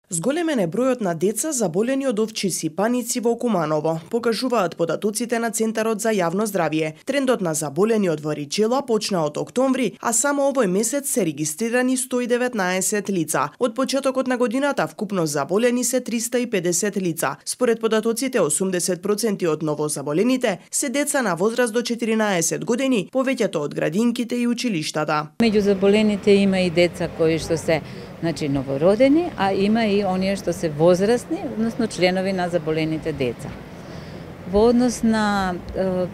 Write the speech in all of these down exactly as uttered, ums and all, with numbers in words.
Зголемен е бројот на деца заболени од овчи сипаници во Куманово, покажуваат податоците на Центарот за јавно здравје. Трендот на заболени од варичела почна од октомври, а само овој месец се регистрирани сто и деветнаесет лица. Од почетокот на годината вкупно заболени се триста и педесет лица. Според податоците, осумдесет проценти од новозаболените се деца на возраст до четиринаесет години, повеќето од градинките и училиштата. Меѓу заболените има и деца кои што се Значи новородени, а има и оние што се возрастни, односно членови на заболените деца. Во однос на е,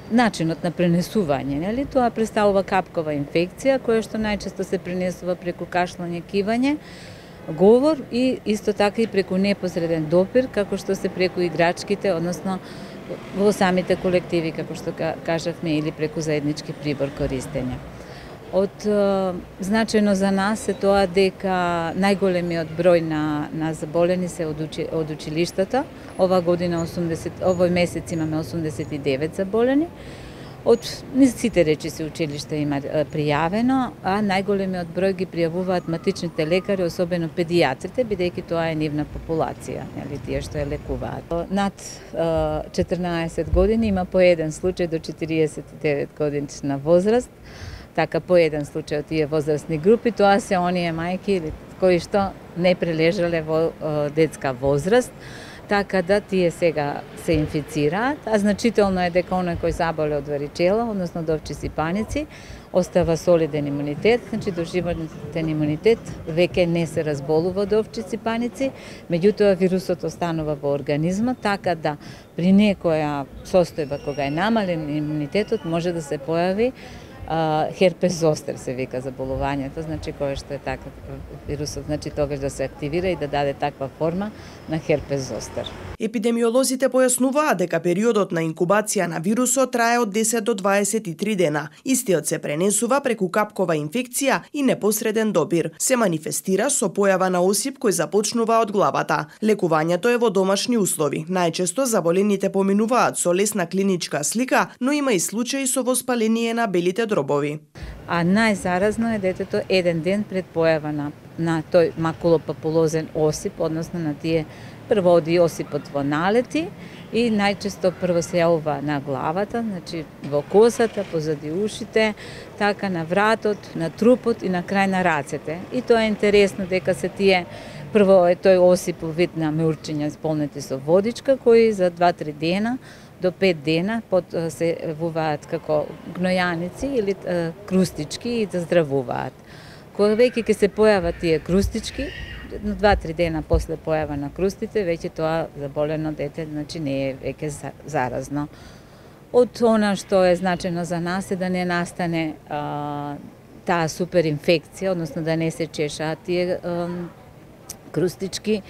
начинот на пренесување, нели, тоа представува капкова инфекција, која што најчесто се пренесува преку кашлање, кивање, говор и исто така и преку непосреден допир, како што се преку играчките, односно во самите колективи, како што кажавме, или преку заеднички прибор користење. Од е, значајно за нас е тоа дека најголемиот број на, на заболени се од, учи, од училиштата. Ова година осумдесет, овој месец имаме осумдесет и девет заболени. Од сите речиси училишта има е, пријавено, а најголемиот број ги пријавуваат матичните лекари, особено педијатрите, бидејќи тоа е нивна популација, нели, тие што ја лекуваат. Над е, четрнаесет години има по еден случај до четириесет и девет годишна возраст. Така по еден случај од тие возрастни групи, тоа се оние мајки кои што не прележале во е, детска возраст, така да тие сега се инфицираат, а значително е дека оној кој заболе од варичела, односно од овчи сипаници, остава солиден имунитет, значи доживотен имунитет, веќе не се разболува од овчи сипаници, меѓутоа вирусот останува во организмот, така да при некоја состојба кога е намален имунитетот може да се појави Uh, херпес зостер се вика заболувањето, значи кое што е така вирусот, значи тогаш да се активира и да даде таква форма на херпес зостер. Епидемиолозите појаснуваат дека периодот на инкубација на вирусот трае од десет до дваесет и три дена. Истиот се пренесува преку капкова инфекција и непосреден допир. Се манифестира со појава на осип кој започнува од главата. Лекувањето е во домашни услови. Најчесто заболените поминуваат со лесна клиничка слика, но има и случаи со воспаление на белите дробови. А најзаразно е детето еден ден пред појава на, на тој макулопапулозен осип, односно на тие прво оди осипот во налети и најчесто прво се јавува на главата, значи во косата, позади ушите, така на вратот, на трупот и на крај на рацете. И тоа е интересно дека се тие прво е тој осип во вид на меурчиња исполнети со водичка, кои за два-три дена до пет дена под се вуваат како гнојаници или е, крустички и да здравуваат. Кога веќе ќе се појават тие крустички, на два-три дена после појава на крустите, веќе тоа заболено дете, значи не е веќе заразно. Од она што е значено за нас е да не настане а, таа суперинфекција, односно да не се чешаат тие а, крустички,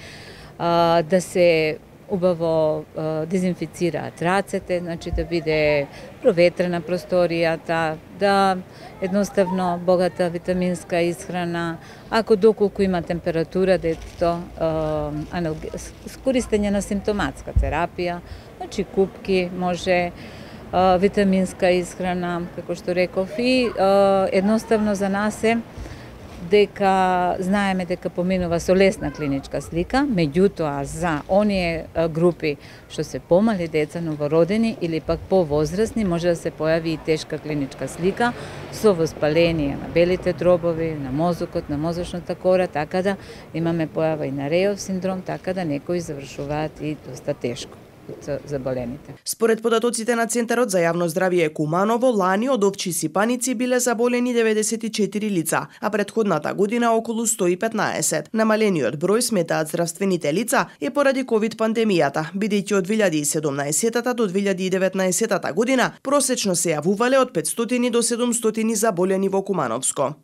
а, да се убаво е, дезинфицираат рацете, значи да биде проветрена просторијата, да едноставно богата витаминска исхрана, ако доколку има температура, детето, е, користење на симптоматска терапија, значи купки, може е, витаминска исхрана, како што реков, и е, едноставно за нас е дека знаеме дека поминува со лесна клиничка слика, меѓутоа за оние групи што се помали деца, новородени или пак повозрастни, може да се појави и тешка клиничка слика со воспаление на белите дробови, на мозокот, на мозочната кора, така да имаме појава и на Рејов синдром, така да некои завршуваат и доста тешко заболените. Според податоците на Центарот за јавно здравје Куманово, лани од овчи сипаници биле заболени деветдесет и четири лица, а претходната година околу сто и петнаесет. Намалениот број, сметаат здравствените лица, е поради ковид пандемијата, бидејќи од две илјади и седумнаесета до две илјади и деветнаесета година просечно се јавувале од петстотини до седумстотини заболени во Кумановско.